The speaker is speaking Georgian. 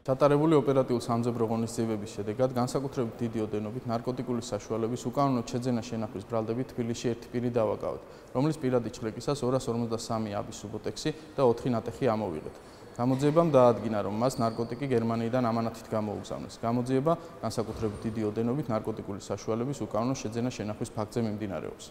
ჩატარებული ოპერატიული სამძებრო ღონისძიებების შედეგად განსაკუთრებით დიდი ოდენობით ნარკოტიკული საშუალების უკანონო შეძენა შენახვის ბრალდებით თბილისში ერთი პირი დავაკავეთ, რომლის პირადი ჩხრეკისას 253 აბი სუბოტექსი და 4 ნატეხი ამოვიღეთ. გამოძიებამ დაადგინა, რომ მას ნარკოტიკი გერმანიიდან ამანათით გამოუგზავნეს. გამოძიება განსაკუთრებით დიდი ოდენობით ნარკოტიკული საშუალების უკანონო შეძენა შენახვის ფაქტზე მიმდინარეობს.